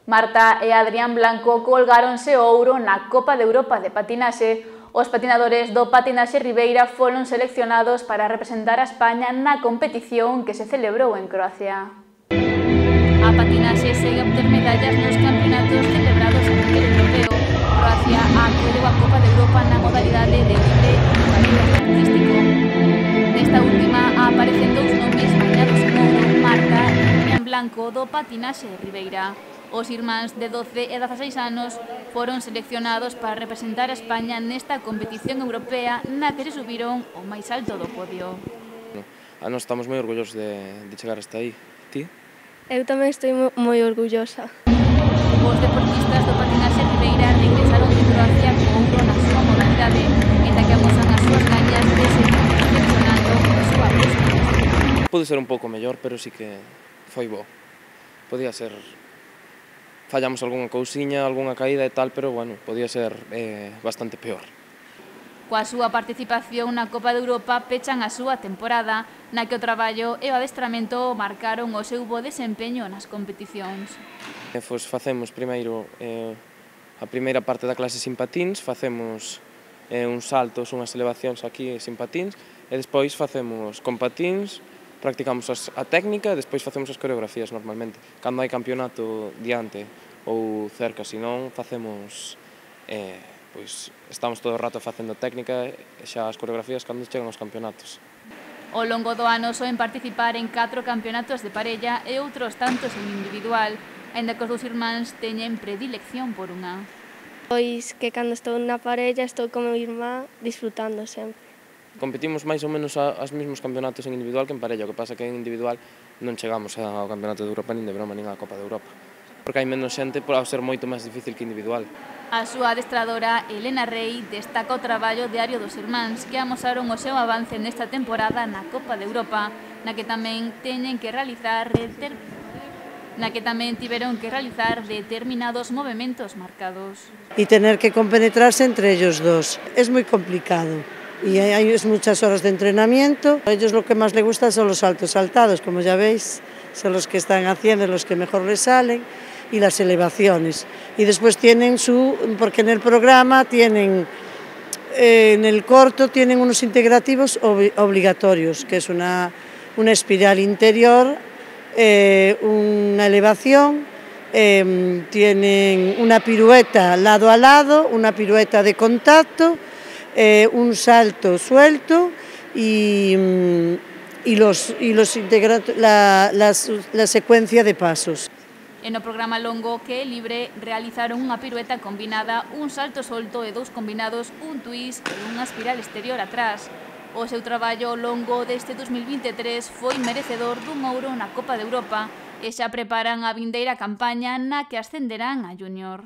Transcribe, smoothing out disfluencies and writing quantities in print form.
Marta e Adrián Blanco colgáronse o ouro na Copa de Europa de patinaxe. Os patinadores do Patinaxe Ribeira foron seleccionados para representar a España na competición que se celebrou en Croacia. A patinaxe segue a obter medallas nos campeonatos celebrados a nivel europeo. Croacia acudeu a Copa de Europa na modalidade de libre e modalidade artístico. Nesta última aparecen dous nomes bañados en ouro, Marta e Adrián Blanco do Patinaxe Ribeira. Os irmáns de 12 e 16 anos foron seleccionados para representar a España nesta competición europea na que se subiron ao máis alto do podio. Nós estamos moi orgullosos de chegar hasta aí. Ti? Eu tamén estou moi orgullosa. Os deportistas do Patinaxe Ribeira regresaron de Croacia co ouro na súa modalidade, en que amosan as súas gañas de seguir perfeccionando a súa aposta. Pode ser un pouco mellor, pero sí que foi bo. Podía ser... Fallamos algunha cousiña, algunha caída e tal, pero bueno, podía ser bastante peor. Coa súa participación na Copa de Europa pechan a súa temporada, na que o traballo e o adestramento marcaron o seu bo desempeño nas competicións. Facemos primeiro a primeira parte da clase sin patins, facemos uns saltos, unhas elevacións aquí sin patins, e despois facemos con patins, practicamos a técnica e despois facemos as coreografías normalmente. Cando hai campeonato diante ou cerca, senón facemos, pois estamos todo o rato facendo técnica e xa as coreografías cando chegan os campeonatos. Ao longo do ano soen participar en 4 campeonatos de parella e outros tantos en individual, aínda que os dous irmáns teñen predilección por unha. Pois que cando estou na parella estou con meu irmán disfrutando sempre. Competimos máis ou menos aos mesmos campeonatos en individual que en parella, o que pasa que en individual non chegamos ao campeonato de Europa nin de broma nin á Copa de Europa, porque hai menos xente por ser moito máis difícil que individual. A súa adestradora, Elena Rey, destaca o traballo diario dos irmáns que amosaron o seu avance nesta temporada na Copa de Europa, na que tamén tiveron que realizar determinados movementos marcados. Y tener que compenetrarse entre ellos dos es muy complicado. Y hay muchas horas de entrenamiento. A ellos lo que más les gusta son los saltos saltados, como ya veis, son los que están haciendo, los que mejor les salen, y las elevaciones. Y después tienen porque en el programa tienen, en el corto tienen unos integrativos obligatorios, que es una espiral interior, una elevación, tienen una pirueta lado a lado, una pirueta de contacto, un salto suelto la secuencia de pasos. E no programa longo que é libre realizaron unha pirueta combinada, un salto solto e 2 combinados, un twist e unha espiral exterior atrás. O seu traballo longo deste 2023 foi merecedor dun ouro na Copa de Europa e xa preparan a vindeira campaña na que ascenderán a Júnior.